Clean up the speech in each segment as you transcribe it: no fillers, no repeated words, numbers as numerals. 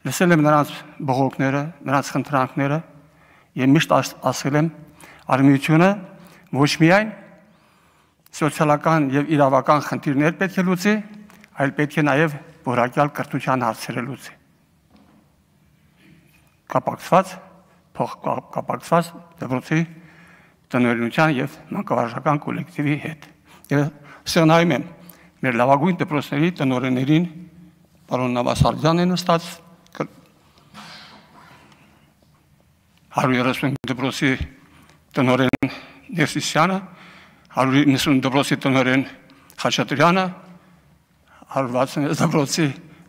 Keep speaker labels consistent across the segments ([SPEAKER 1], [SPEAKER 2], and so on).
[SPEAKER 1] լսել եմ նրանց բողոքները, նրանց խնդրանքները եւ միշտ ասել եմ արմիությունը ոչ միայն սոցիալական եւ իրավական խնդիրներ պետք է լուծի, այլ պետք է նաեւ որակյալ կրթության հարցերը լուծի։ Կապակցված դպրոցի տնօրինության եւ մանկավարժական կոլեկտիվի հետ։ Եվ սեղնայում եմ մեր լավագույն դպրոցների տնօրեններին պարոն Նավասարդյանն է նստած 130 դպրոցի տնօրեն Ներսիսյանը, 190 դպրոցի տնօրեն Խաչատրյանը, 160 դպրոցի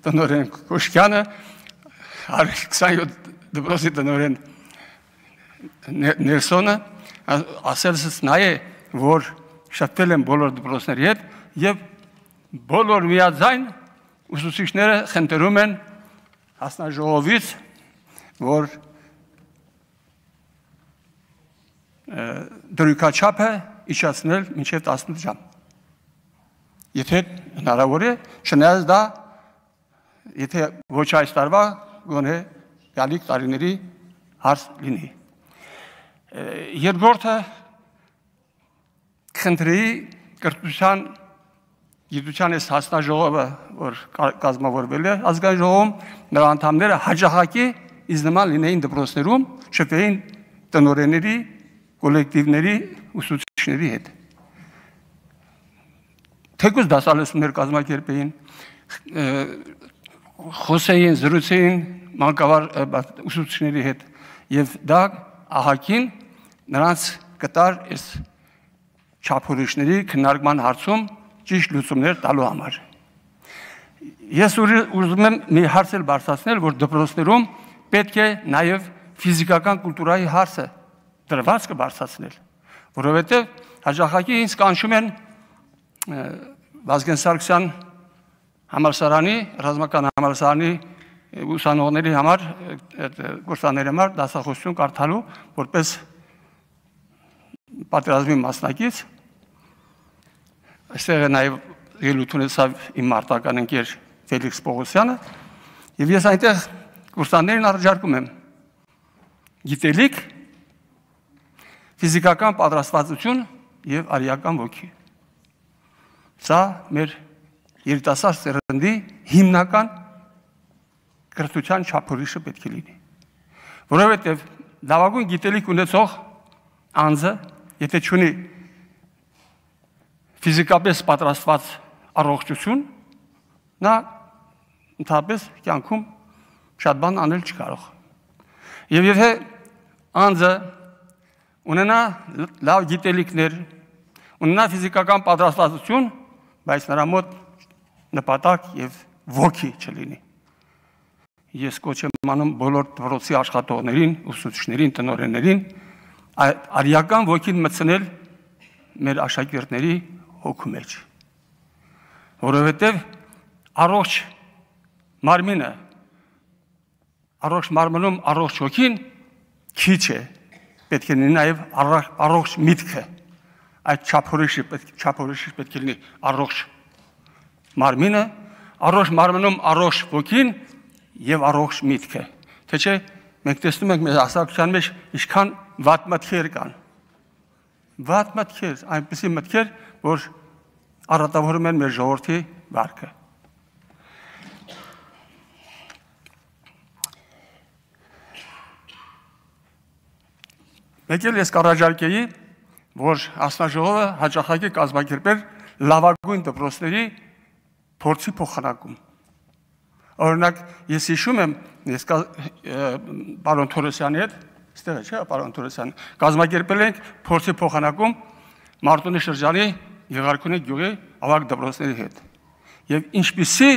[SPEAKER 1] տնօրեն Կոշկյանը, 127 դպրոցի տնօրեն Ներսոնը, ասելս նա է, որ շփվել են բոլոր դպրոցների հետ եւ բոլոր միաձայն ուսուցիչները խնդրում են հասնաժողովից, որ դրույքաչափը իջացնել մինչև 18 ժամ։ Եթե հնարավոր է, չնայած դա, եթե ոչ այս տարվա, գոնե գալիք տարիների հարց լինի։ Երկրորդը խնդրի կրթության գիտության այս հասնաժողովը, որ կազմավորվել է ազգային ժողովում, նրա անդամները հաջողակի ինձ նման լինեին դպրոցներում, շփվեին տնօրենների, կոլեկտիվների, ուսուցիչների հետ։ Թեկուզ դասալսումներ կազմակերպեին, խոսեին, զրուցեին ուսուցիչների հետ եւ դա ահագին նրանց կտար այս չափորոշների քննարկման հարցում ճիշտ լուծումներ տալու համար։ Ես ուզում եմ մի հարց էլ բարձրացնել, որ դպրոցներում պետք է նաև ֆիզիկական կուլտուրայի հարցը դրված կբարձրացնել, որովհետև հաջողակի ինձ կանչում են Վազգեն Սարգսյան համալսարանի, ռազմական համալսարանի ուսանողների համար, կուրսանների համար դասախոսություն կարդալու, որպես պատերազմի մասնակից, այստեղ է նաև ելույթ ունեցավ իմ մարտական ընկեր Ֆելիքս Պողոսյանը, եւ ես այնտեղ կուրսաններին առաջարկում եմ գիտելիք, ֆիզիկական պատրաստվածություն եւ արիական ոգի։ Սա մեր երիտասարդ սերնդի հիմնական կրթության չափորոշը պետք է լինի։ Որովհետև լավագույն գիտելիք ունեցող անձը, եթե չունի ֆիզիկապես պատրաստված առողջություն, նա ընդհանրապես կյանքում շատ բան անել չկարող։ Եվ եթե անձը ունենա լավ գիտելիքներ, ունենա ֆիզիկական պատրաստվածություն, բայց նրա մոտ նպատակ եւ ոգի չլինի։ Ես կոչ եմ անում բոլոր դպրոցի աշխատողներին, ուսուցիչներին, տնօրեններին արիական ոգին մտցնել մեր աշակերտների հոգու մեջ։ Որովհետև առողջ մարմինը, առողջ մարմնում առողջ հոգին քիչ է, պետք է լինի նաև առողջ միտքը, այդ չափորոշի պետք է լինի առողջ մարմինը, առողջ մարմնում առողջ ոգին եւ առողջ միտքը, թե չէ մենք տեսնում ենք մեր հասարակության մեջ ինչքան վատ մտքեր կան, վատ մտքեր, այնպիսի մտքեր, որ առատավորում են մեր ժողովրդի վարքը։ Մեկ էլ ես կառաջարկեի, որ հասնաժողովը հաճախակի կազմակերպեր լավագույն դպրոցների փորձի փոխանակում։ Օրինակ, ես հիշում եմ, ես պարոն Թորոսյանի հետ, ստեղ է, չէ, պարոն Թորոսյան, կազմակերպել ենք փորձի փոխանակում Մարտունի շրջանի Եղարքունի գյուղի ավագ դպրոցների հետ։ Եվ ինչպիսի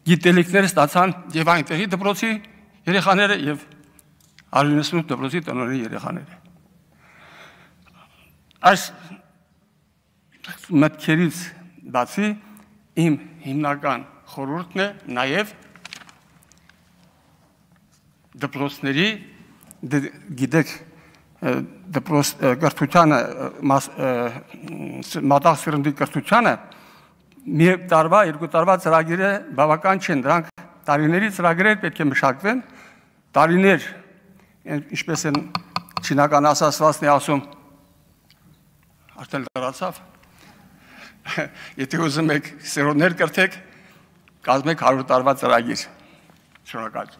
[SPEAKER 1] գիտելիքներ ստացան եւ այնտեղի դպրոցի երեխաները եւ 198 դպրոցի տնօրենի երեխաները։ Այս մտքերից բացի իմ հիմնական խորհուրդն է նաև դպրոցների գիտեք դպրոց կրթությանը մատաղ սերնդի կրթությանը մի տարվա, երկու տարվա ծրագիրը բավական չեն, դրանք տարիների ծրագրեր պետք է մշակվեն, տարիներ, ինչպես են չինական ասացվածն է ասում, արդեն լրացավ, եթե ուզում եք սերունդներ կրթեք, կազմեք 100 տարվա ծրագիր, շնորհակալ։